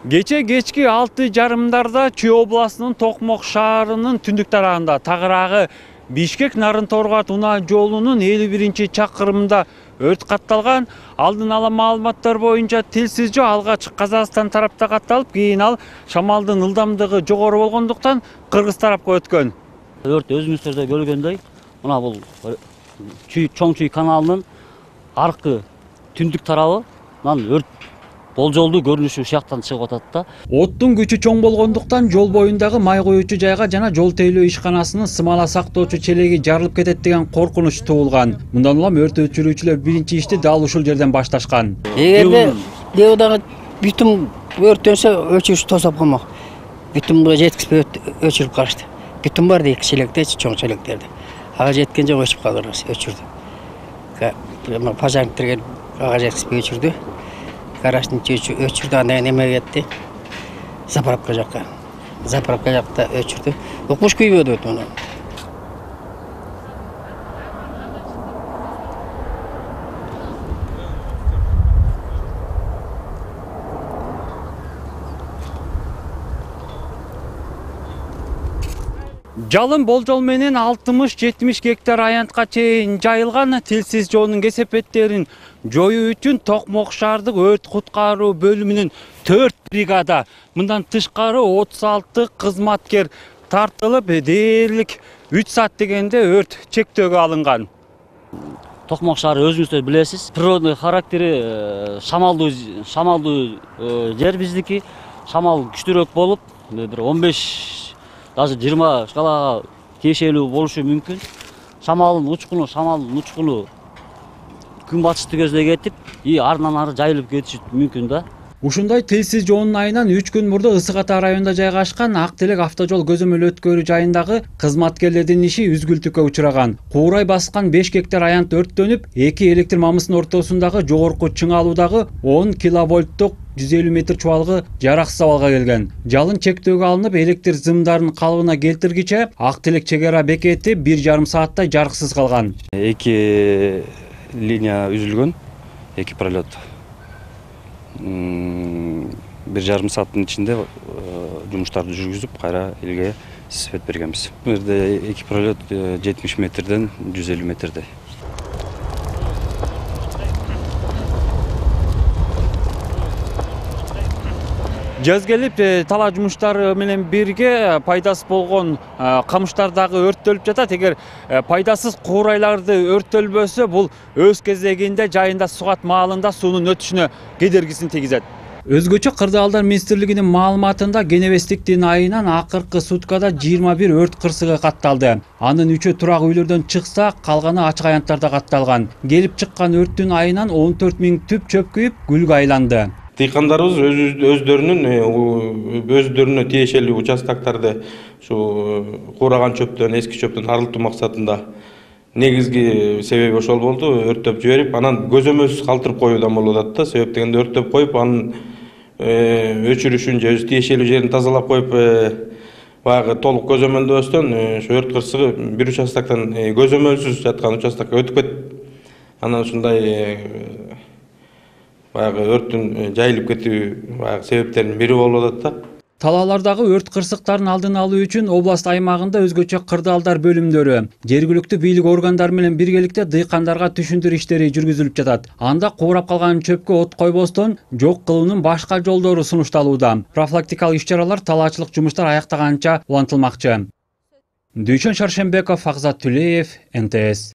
Кече кечки 6:30 Чүй областынын Токмок шаарынын түндүк тарабында тагыраагы Бишкек-Нарын-Торгат унаа жолунун 51-чакырымында өрт катталган. Алдын ала маалыматтар боюнча тилсиз жөө алгач Казакстан тарапта катталып, кийин ал шамалдын ылдамдыгы жогору болгондуктан Кыргыз тарапка өткөн. Өрт өзүңүздөрдө көргөндөй, мына бул Чоң Чүй каналынын аркы түндүк тарабынан өрт болжолдуу көрүнүшү ушактан чыгып атат да. Оттун күчү чоң болгондуктан жол боюндагы май коюучу жайга жана жол тейлөө ишканасынын смала сактоочу челеги жарылып кетет деген коркунуч туулган. Мындан улам өрт өчүрүүчүлөр биринчи ишти дал ушул жерден башташкан. Эгерде Леодагы бүтүн өрттөнсө өчүрүш тосоп коймок. Бүтүн жеткизбей өчүрүп калышты. Бүтүн бар дейт челектечи, чоң челектерди. Ага жеткен жок өчүп калдыр, өчүрдү. Пожарниктер ага жеткизбей өчүрдү. Гараждын өчүрдү, андан неме кетти. Заправка жакка өчүрдү. Укмуш күйбөдү өтүнө. Жалын болжол менен 60-70 гектар аянтка чейин жайылган. Тилсиз жоонун кесепеттерин жоюу үчүн Токмок шаардык өрт куткаруу бөлүмүнүн 4 бригада, мындан тышкары 36 кызматкер тартылып, дээрлик 3 саат дегенде өрт чектөөгө алынган. Токмок шаары өзүңүздөр билесиз, природный характери шамалдуу жер биздики. Шамал күчтүүрөөк болуп, бир 15 даже 20 шкалага тиешелүү болушу мүмкүн. Шамалдын учкуну күн батышты көздөй кетип, арынан ары жайылып кетиши мүмкүн да. Ушундай тилсиз жоонун айынан 3 күн мурда Ысык Ата районунда жайгашкан Ак Телек автожол көзөмөл өткөрүү жайындагы кызматкерлердин иши үзгүлтүккө учураган. Куурай баскан 5 гектар аянт өрттөнүп, 2 электр мамысынын ортосундагы жогорку чыңалуудагы 10 киловольттук 150 метр чубалгы жараксыз абалга келген. Жалын чектөөгө алынып, электр зымдарын калыбына келтиргиче Ак Телек чек ара бекети 1,5 сааттай жарыксыз калган. 2 линия үзүлгөн, 2 пролет. 1,5 сааттын ичинде жумуштарды жүргүзүп, кайра элге свет бергенбиз. Бул жерде 2 пролет 70 метрден 150 метрдей. Жаз келип, талаа жумуштары менен бирге пайдасыз болгон камыштардагы өрттөлүп жатат. Эгер пайдасыз куурайларды өрттөлбөсө, бул өз кезегинде жайында сугат маалында суунун өтүшүнө кедергисин тийгизет. Өзгөчө Кырдаалдар министрлигинин маалыматында Кенебестиктин айынан акыркы суткада 21 өрт кырсыгы катталды. Анын 3-ü турак үйлөрдөн чыкса, калганы ачык аянттарда катталган. Келип чыккан өрттүн айынан 14 000 түп чөп күйүп, күлгө айланды. Дыйкандарыбыз өздөрүнө тиешелүү участоктарды ушу куураган чөптөн, эски чөптөн арылтуу максатында негизги себеби ошол болду. Өрттөп жиберип, анан көзөмөлсүз калтырып коюудан болуп атат да. Себеп дегенде өрттөп коюп, анын өчүрүшүн же өз тиешелүү жерин тазалап коюп, баягы толук көзөмөлдөбөстөн ошо өрт кырсыгы бир участоктон көзөмөлсүз жаткан участокко өтүп кетип, анан ушундай баягы өрттүн жайылып кетүү себептеринин бири болуп атат да. Талаалардагы өрт кырсыктарын алдын алуу үчүн област аймагында өзгөчө кырдаалдар бөлүмдөрү, жергиликтүү бийлик органдары менен биргеликте дыйкандарга түшүндүрүү иштери жүргүзүлүп жатат. Анда куурап калган чөпкө от койбостон жок кылуунун башка жолдору сунушталууда. Профилактикалык иш-чаралар, талаачылык жумуштар аяктаганча улантылмакчы. Дүйшөн Шаршембеков, Акзат Түлеев, НТС.